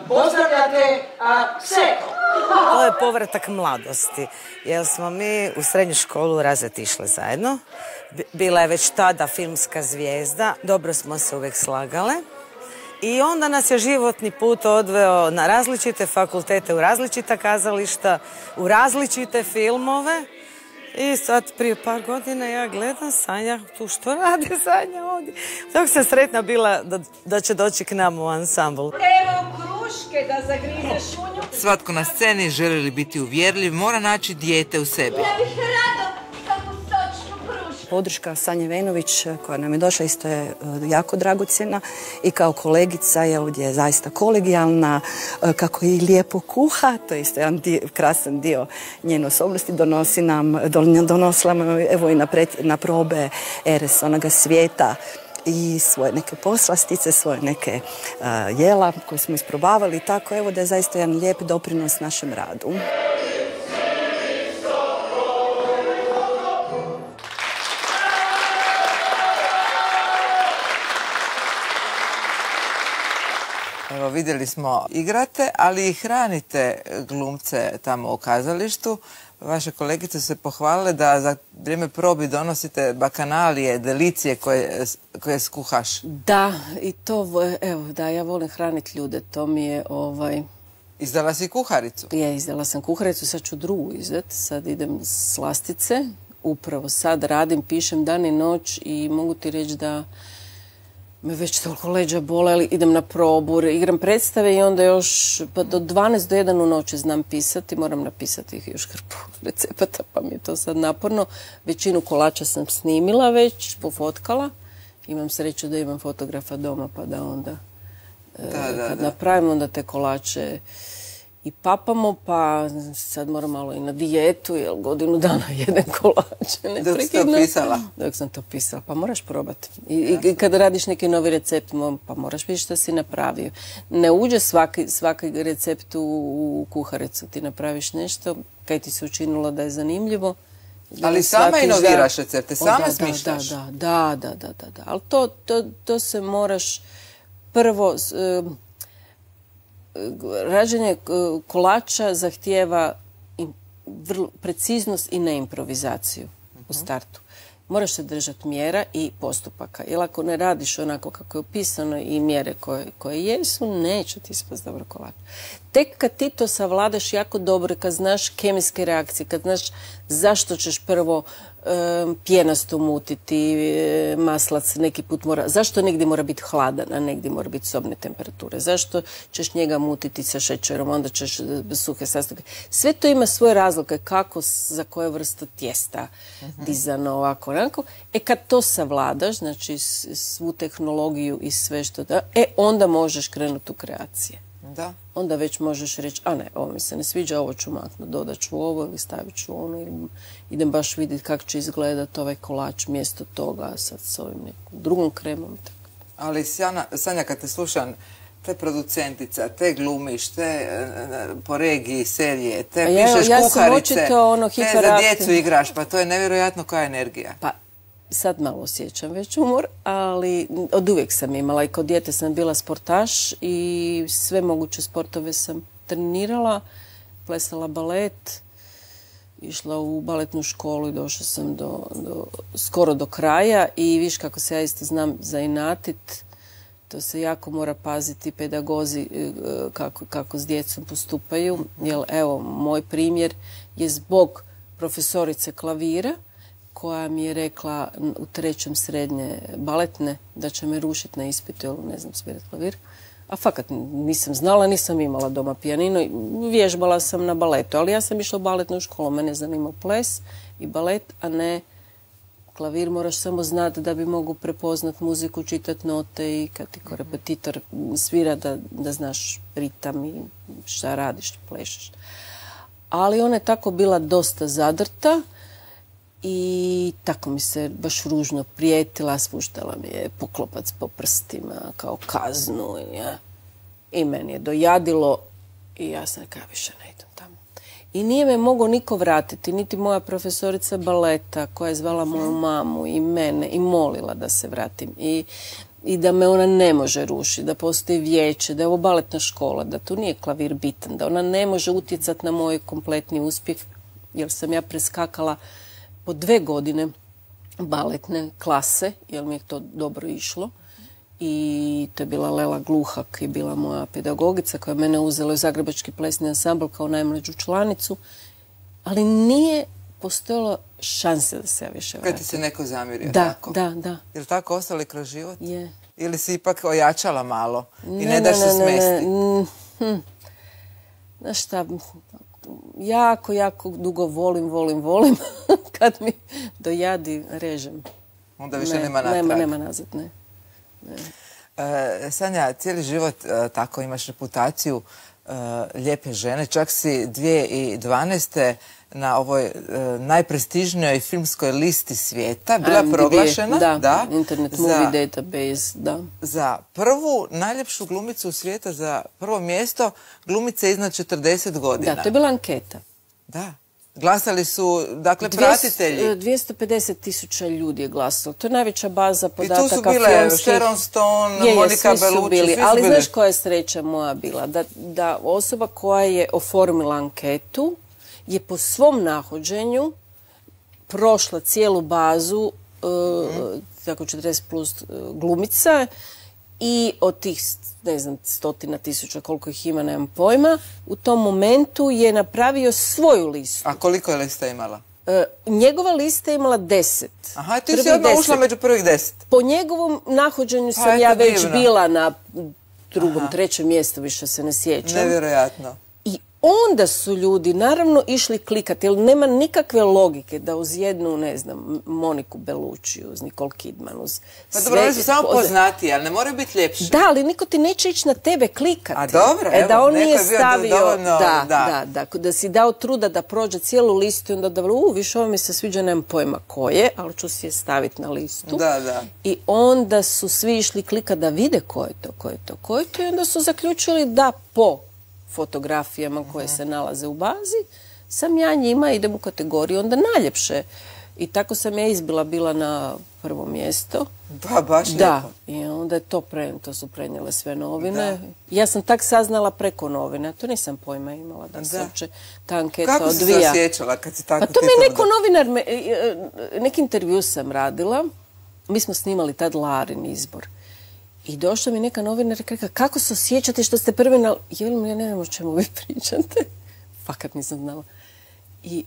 Pozdravljate Seko. To je povratak mladosti, jer smo mi u srednju školu razred išle zajedno. Bila je već tada filmska zvijezda, dobro smo se uvijek slagale. I onda nas je životni put odveo na različite fakultete, u različita kazališta, u različite filmove. I sad prije par godina ja gledam Sanja, tu što radi Sanja ovdje. Tako sam sretna bila da će doći k nam u ansambl. Evo kruške da zagrize šunju. Svatko na sceni, želi li biti uvjerljiv, mora naći dijete u sebi. Ja bih rado takvu sočnu krušku. Podrška Sanje Venović koja nam je došla isto je jako dragocjena i kao kolegica je ovdje zaista kolegijalna, kako i lijepo kuha, to je isto jedan krasan dio njene osobnosti, donosila nam evo i na probe Eres onoga svijeta i svoje neke poslastice, svoje neke jela koje smo isprobavali, tako evo da je zaista jedan lijep doprinos našem radu. Evo, vidjeli smo, igrate, ali i hranite glumce tamo u kazalištu. Vaše kolegice su se pohvalile da za vrijeme probi donosite bakanalije, delicije koje skuhaš. Da, i to, evo, da, ja volim hraniti ljude, to mi je, Izdala si kuharicu? Izdala sam kuharicu, sad ću drugu izdati, sad idem slastice, upravo sad radim, pišem dan i noć i mogu ti reći da me već toliko leđa bole, ali idem na probu, igram predstave i onda još do 12 do 1 u noći znam pisati, moram napisati ih još hrpu recepata, pa mi je to sad naporno. Većinu kolača sam snimila već, pofotkala. Imam sreću da imam fotografa doma, pa da onda kad napravimo onda te kolače i papamo, pa sad moram malo i na dijetu, jer godinu dana jedem kolače. Dok si to pisala? Dok sam to pisala, pa moraš probati. I kada radiš neki novi recept, pa moraš vidjeti što si napravio. Ne uđe svaki recept u kuharicu, ti napraviš nešto kaj ti se učinilo da je zanimljivo. Ali sama inoviraš recepte, sama smišljaš? Da. Ali to se moraš prvo... Rađenje kolača zahtijeva preciznost i neimprovizaciju u startu. Moraš se držati mjera i postupaka. Jer ako ne radiš onako kako je opisano i mjere koje jesu, neće ti ispast dobro kolač. Tek kad ti to savladaš jako dobro, kad znaš kemijske reakcije, kad znaš zašto ćeš prvo pjenasto mutiti, maslac neki put mora... Zašto negdje mora biti hladan, a negdje mora biti sobne temperature? Zašto ćeš njega mutiti sa šećerom, onda ćeš suhe sastojke? Sve to ima svoje razloge kako, za koje vrste tijesta dizano, ovako, onako. Kad to savladaš, znači svu tehnologiju i sve što da, onda možeš krenuti u kreacije. Da. Onda već možeš reći, a ne, ovo mi se ne sviđa, ovo ću maknuti, dodat ću ovo ili stavit ću ono, ili idem baš vidjeti kako će izgledati ovaj kolač mjesto toga, sad s ovim nekom drugom kremom. Ali Sanja, kad te slušam, te producentica, te glumiš, te po regiji serije, te pišeš kuharice, te za djecu igraš, pa to je nevjerojatno koja energija. Pa, sad malo osjećam već umor, ali od uvijek sam imala i kod dijete sam bila sportaš i sve moguće sportove sam trenirala, plesala balet, išla u baletnu školu i došla sam skoro do kraja i viš kako se ja isto znam zainatit, to se jako mora paziti pedagozi kako s djecom postupaju, jer evo, moj primjer je zbog profesorice klavira koja mi je rekla u 3. srednje baletne da će me rušiti na ispitu, jer ne znam svirati klavir. A fakat nisam znala, nisam imala doma pijanino, vježbala sam na baletu, ali ja sam išla u baletnu školu, mene zanimao ples i balet, a ne klavir. Moraš samo znati da bi mogu prepoznat muziku, čitati note i kad ti ko repetitor svira da znaš ritam i šta radiš, plešeš. Ali ona je tako bila dosta zadrta i tako mi se baš ružno prijetila, spuštala mi je poklopac po prstima kao kaznu i meni je dojadilo i ja sam rekao, više ne idem tamo. I nije me mogao niko vratiti, niti moja profesorica baleta koja je zvala moju mamu i mene i molila da se vratim i da me ona ne može rušiti, da postoji vijeće, da je ovo baletna škola, da tu nije klavir bitan, da ona ne može utjecati na moj kompletni uspjeh, jer sam ja preskakala po 2 godine baletne klase, jer mi je to dobro išlo. I to je bila Lela Gluhak i bila moja pedagogica koja je mene uzela u Zagrebački plesni ansambl kao najmlađu članicu. Ali nije postojalo šanse da se ja više vratim. Kad ti se neko zamirio, tako? Da. Je li tako ostali kroz život? Je. Ili si ipak ojačala malo i ne daš se smesti? Znaš šta, jako dugo volim. Kad mi dojadi, režem. Onda više nema natrag. Nema nazad, ne. Sanja, cijeli život tako imaš reputaciju lijepe žene. Čak si 2012. na ovoj najprestižnijoj filmskoj listi svijeta bila proglašena. Da, Internet Movie Database, da. Za prvu najljepšu glumicu u svijeta, za prvo mjesto glumice iznad 40 godina. Da, to je bila anketa. Da. Glasali su, dakle, pratitelji. 250.000 ljudi je glasalo. To je najveća baza podataka filmskih. I tu su bile Sharon Stone, Monica Bellucci, svi su bili. Ali znaš koja je sreća moja bila? Da osoba koja je oformila anketu je po svom nahođenju prošla cijelu bazu, tako 40 plus glumica, i od tih, ne znam, 100.000 koliko ih ima, nemam pojma, u tom momentu je napravio svoju listu. A koliko je lista imala? Njegova lista je imala 10. Aha, ti si odmah ušla među prvih 10. Po njegovom nahođenju sam ja već bila na 2., 3. mjestu, više se ne sjećam. Nevjerojatno. I onda su ljudi naravno išli klikati, jer nema nikakve logike da uz jednu, ne znam, Moniku Bellucci, uz Nicole Kidman, uz sve... Pa dobro, oni su samo poznatiji, ali ne moraju biti ljepši. Da, ali niko ti neće ići na tebe klikati. A dobro, evo, da on neko nije je bio stavio, dovoljno... Da si dao truda da prođe cijelu listu i onda da više ovo mi se sviđa, nemam pojma ko je, ali ću si je staviti na listu. Da. I onda su svi išli klikati da vide ko je to i onda su zaključili da po fotografijama koje se nalaze u bazi, sam ja njima, idem u kategoriju onda najljepše. I tako sam ja izbila bila na prvo mjesto. Pa, baš lijepo. Da, i onda je to su prenijele sve novine. Da. Ja sam tak saznala preko novine, a to nisam pojma imala da se uopće ta anketa odvija. Kako si se osjećala kad si tako... A to mi je neko novinar, neki intervju sam radila, mi smo snimali tad Larin izbor. I došla mi neka novinarka i rekla, kako se osjećate što ste prvi na... Ja ne znam o čemu vi pričate. Fakat nisam znala. I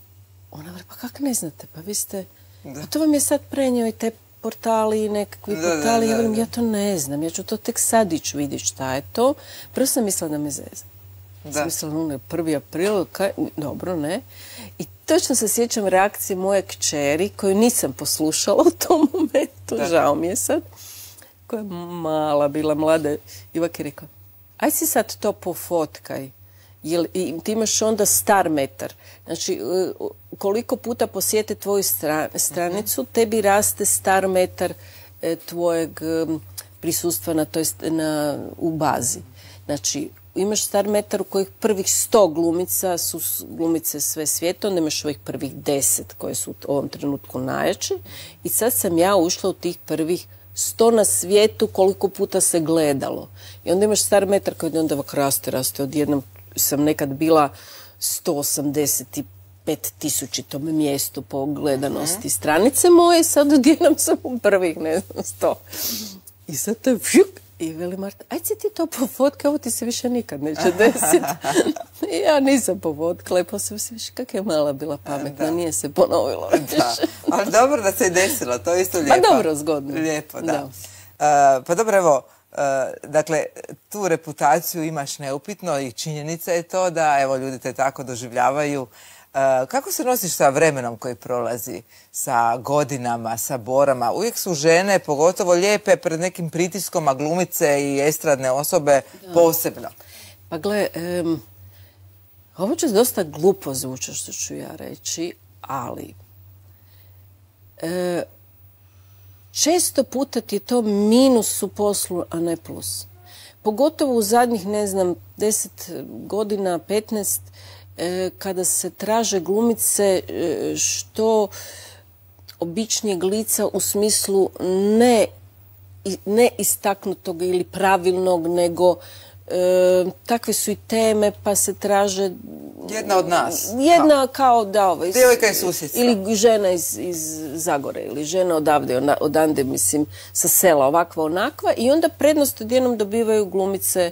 ona vre, pa kako ne znate? Pa vi ste A to vam je sad prenio i te portali i nekakvi portali. Ja velim, ja to ne znam, ja ću to tek sad ići vidjeti šta je to. Prvo sam mislila da me zezam. Sam mislila, 1. april, dobro, ne. I točno se sjećam reakcije moje kćeri, koju nisam poslušala u tom momentu, žao mi je sad, koja je mala, bila mlada. Ivak je rekao, aj si sad to pofotkaj. I ti imaš onda star metar. Znači, koliko puta posjete tvoju stranicu, tebi raste star metar tvojeg prisustva u bazi. Znači, imaš star metar u kojih prvih 100 glumica su glumice sve svijeta, onda imaš ovih prvih 10 koje su u ovom trenutku najjače. I sad sam ja ušla u tih prvih 100 na svijetu koliko puta se gledalo. I onda imaš star metar koji onda ovak raste. Odjednom sam nekad bila 185.000 mjestu po gledanosti stranice moje, sad odjednom sam u prvih, ne znam, 100. I sad to je i veli Marta, aj si ti to pofotka, ovo ti se više nikad neće desiti. Ja nisam pofotkala i poslije se više, kak je mala bila pametna, nije se ponovilo više. Ali dobro da se je desilo, to je isto lijepo. Pa dobro, zgodno. Lijepo, da. Pa dobro, evo, dakle, tu reputaciju imaš neupitno i činjenica je to da, evo, ljudi te tako doživljavaju. Kako se nosiš sa vremenom koji prolazi, sa godinama, sa borama? Uvijek su žene, pogotovo lijepe, pred nekim pritiskom, a glumice i estradne osobe posebno. Pa gle, ovo će dosta glupo zvuči što ću ja reći, ali često puta ti je to minus u poslu, a ne plus. Pogotovo u zadnjih, ne znam, 10 godina, 15, kada se traže glumice što običnijeg lica u smislu ne istaknutog ili pravilnog, nego takve su i teme pa se traže... Jedna od nas. Jedna kao da ovo... Djevojka iz susjedstva. Ili žena iz Zagore, ili žena odande, mislim, sa sela, ovakva, onakva. I onda prednost odjednom dobivaju glumice.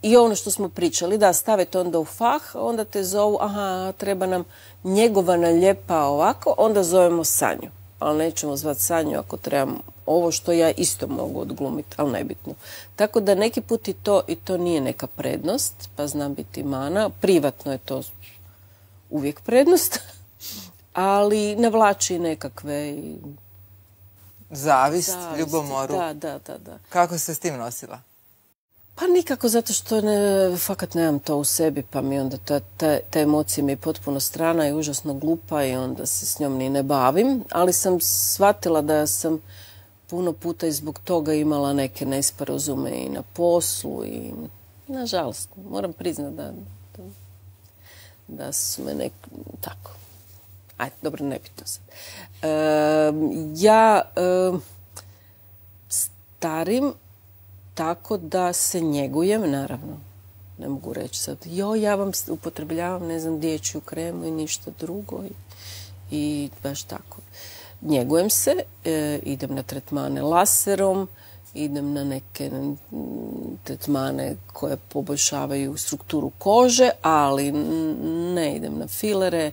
I ono što smo pričali, da stave to onda u fah, onda te zovu, aha, treba nam njegovana lijepa ovako, onda zovemo Sanju. Ali nećemo zvati Sanju ako trebam ovo što ja isto mogu odglumiti, ali nebitno. Tako da neki put i to nije neka prednost, pa znam biti mana. Privatno je to uvijek prednost, ali navlači nekakve... Zavist, ljubomoru. Da. Kako se s tim nosila? Pa nikako, zato što fakat nemam to u sebi, pa mi onda ta emocija mi je potpuno strana i užasno glupa i onda se s njom ni ne bavim, ali sam shvatila da sam puno puta i zbog toga imala neke nesporazume i na poslu i nažalost, moram priznati da su me tako. Ajde, dobro, nebitno sad. Ja starim tako da se njegujem, naravno. Ne mogu reći sad, ja vam upotrebljavam, ne znam, dječju kremu i ništa drugo. I baš tako. Njegujem se, idem na tretmane laserom, idem na neke tretmane koje poboljšavaju strukturu kože, ali ne idem na filere.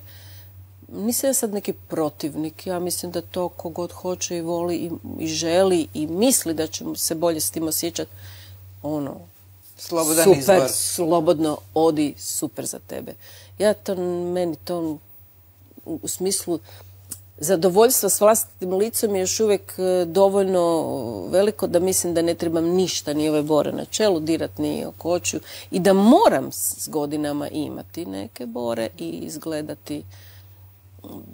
Nisam ja sad neki protivnik, ja mislim da to kogod hoće i voli i želi i misli da će se bolje s tim osjećati, slobodan super, izbor. Slobodno odi, super za tebe. Meni to u smislu zadovoljstva s vlastitim licom je još uvijek dovoljno veliko da mislim da ne trebam ništa, ni ove bore na čelu, dirat ni oko očiju i da moram s godinama imati neke bore i izgledati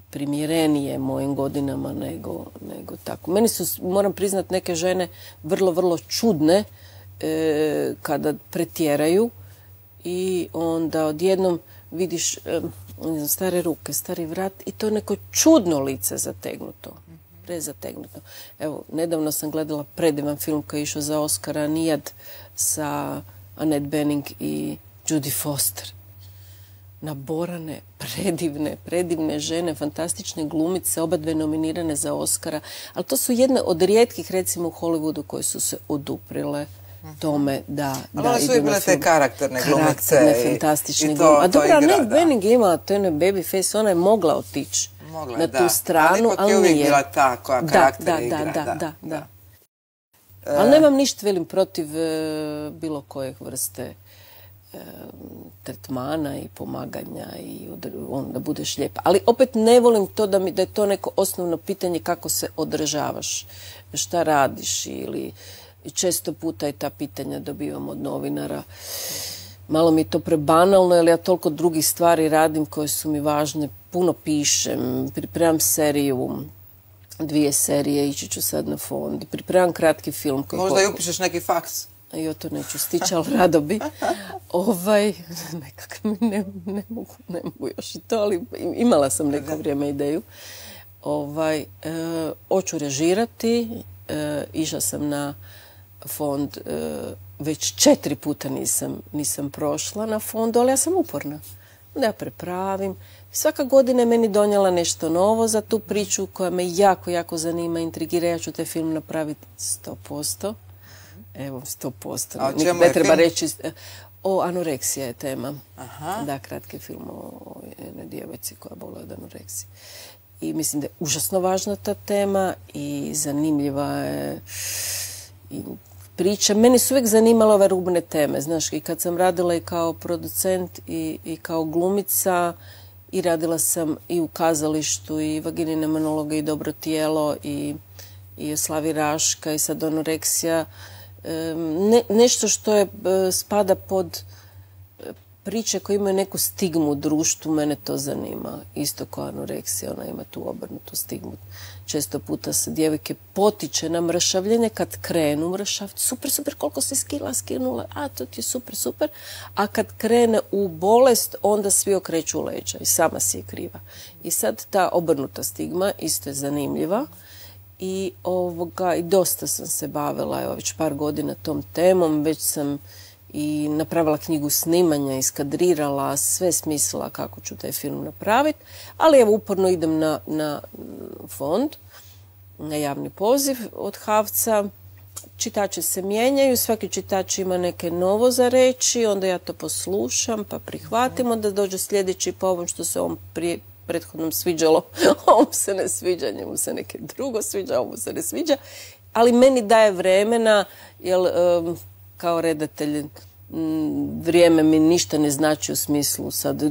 primjerenije mojim godinama nego tako. Meni su, moram priznat, neke žene vrlo, vrlo čudne kada pretjeraju i onda odjednom vidiš stare ruke, stari vrat i to neko čudno lice zategnuto. Prezategnuto. Evo, nedavno sam gledala predivan film koji je išao za Oscara, Nijad, sa Annette Bening i Judy Foster. Naborane, predivne žene, fantastične glumice, oba dve nominirane za Oscara, ali to su jedne od rijetkih, recimo u Hollywoodu, koje su se oduprile tome da idu na film. Ali su imale te karakterne glumice fantastične glumice. A dobro, Annette Bening je imala to Baby Face, ona je mogla otići na tu stranu, ali nije. Ali ipak je uvijek bila ta koja karakter igra. Da. Ali nemam ništa, velim, protiv bilo kojeg vrste tretmana i pomaganja i da budeš lijepa. Ali opet ne volim to da je to neko osnovno pitanje kako se održavaš, šta radiš ili često puta i ta pitanja dobivam od novinara. Malo mi je to prebanalno, jer ja toliko drugih stvari radim koje su mi važne. Puno pišem, pripremam seriju, 2 serije, ići ću sad na fond. Pripremam kratki film. Možda i upišeš neki faks. Jo, to neću stići, ali rado bi. Nekak ne mogu još i to, ali imala sam neko vrijeme ideju. Hoću režirati, išla sam na fond, već 4 puta nisam prošla na fondu, ali ja sam uporna. Da ja prepravim. Svaka godina je meni donijela nešto novo za tu priču koja me jako, jako zanima, intrigira. Ja ću taj film napraviti 100%. Evo, 100%. Ne treba reći. Anoreksija je tema. Da, kratki film o jednoj djevojci koja boluje od anoreksije. I mislim da je užasno važna ta tema i zanimljiva je priča. Meni su uvijek zanimale ove rubne teme. Znaš, i kad sam radila i kao producent i kao glumica, i radila sam i u kazalištu, i vaginine monologe, i Dobro tijelo, i Slavi Raška, i sad anoreksija. Nešto što spada pod priče koje imaju neku stigmu u društvu, mene to zanima. Isto kao anoreksija, ona ima tu obrnutu stigmu. Često puta se djevojke potiče na mršavljenje kad krenu mršaviti. Super, koliko si skinula, to ti je super. A kad krene u bolest, onda svi okreću leđa i sama si je kriva. I sad ta obrnuta stigma isto je zanimljiva. I dosta sam se bavila, evo već par godina tom temom, već sam i napravila knjigu snimanja, iskadrirala, sve smislila kako ću taj film napraviti, ali evo uporno idem na fond, na javni poziv od HAVC-a. Čitači se mijenjaju, svaki čitač ima neke novo za reći, onda ja to poslušam pa prihvatim, onda dođe sljedeći po ovom što se ovom prethodnom sviđalo, ovom se ne sviđa, njemu se neke drugo sviđa, ovom se ne sviđa, ali meni daje vremena, jer kao redatelj vrijeme mi ništa ne znači u smislu sad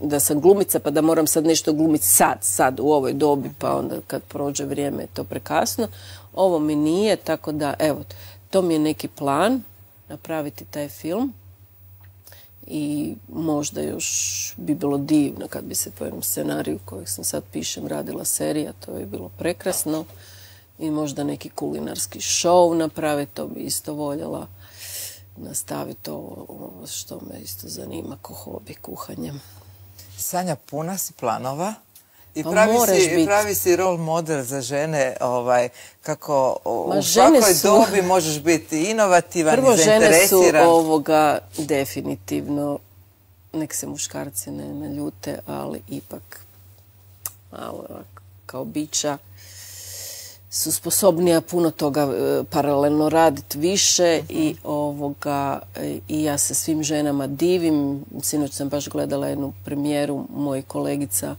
da sam glumica pa da moram sad nešto glumiti sad u ovoj dobi, pa onda kad prođe vrijeme je to prekasno. Ovo mi nije, tako da evo, to mi je neki plan, napraviti taj film. I možda još bi bilo divno kad bi se po jednom scenariju kojeg sam sad pišem radila serija, to bi bilo prekrasno. I možda neki kulinarski show napraviti, to bi isto voljela nastaviti ovo što me isto zanima ko hobi, kuhanjem. Sanja, puna si planova i Pa pravi si role model za žene, kako u svakoj dobi možeš biti inovativan i zainteresiran. Prvo, žene su definitivno, nek se muškarci ne ljute, ali ipak malo kao bića su sposobnija puno toga paralelno raditi više i ja se svim ženama divim. Sinoć sam baš gledala jednu premijeru mojih kolegica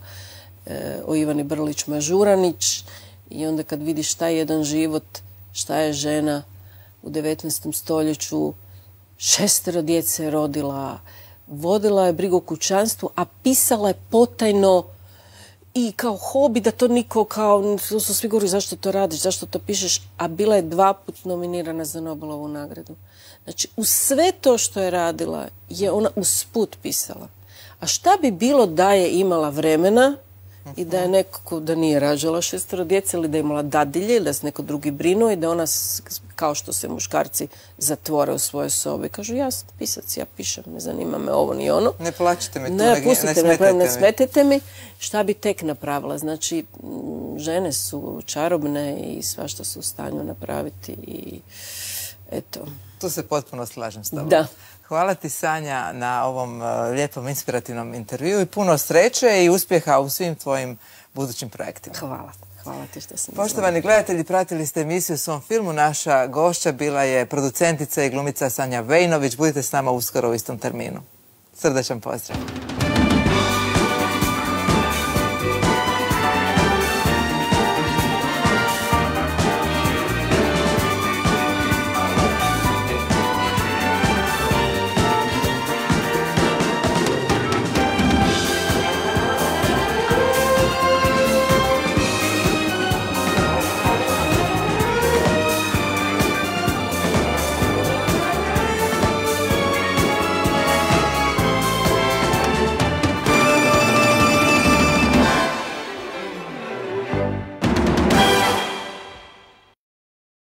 o Ivani Brlić-Mažuranić i onda kad vidiš šta je jedan život, šta je žena u 19. stoljeću, 6 djece je rodila, vodila je brigu o kućanstvu, a pisala je potajno i kao hobi, da to niko kao, su svi govorili zašto to radiš, zašto to pišeš, a bila je 2 puta nominirana za Nobelovu nagradu. Znači, u sve to što je radila je ona usput pisala. A šta bi bilo da je imala vremena i da je nekako, da nije rađala 6 djece ili da je imala dadilje ili da se neko drugi brinuo i da ona, kao što se muškarci zatvore u svoje sobe, kažu ja sam pisac, ja pišem, ne zanima me ovo ni ono. Ne plaćite me tu, ne smetete mi. Šta bi tek napravila? Znači, žene su čarobne i svašta su u stanju napraviti i eto. Tu se potpuno slažem s tobom. Da. Hvala ti, Sanja, na ovom lijepom, inspirativnom intervjuu i puno sreće i uspjeha u svim tvojim budućim projektima. Hvala. Hvala ti što sam Poštovani gledatelji, pratili ste emisiju o svom filmu. Naša gošća bila je producentica i glumica Sanja Vejnović. Budite s nama uskoro u istom terminu. Srdačan pozdrav.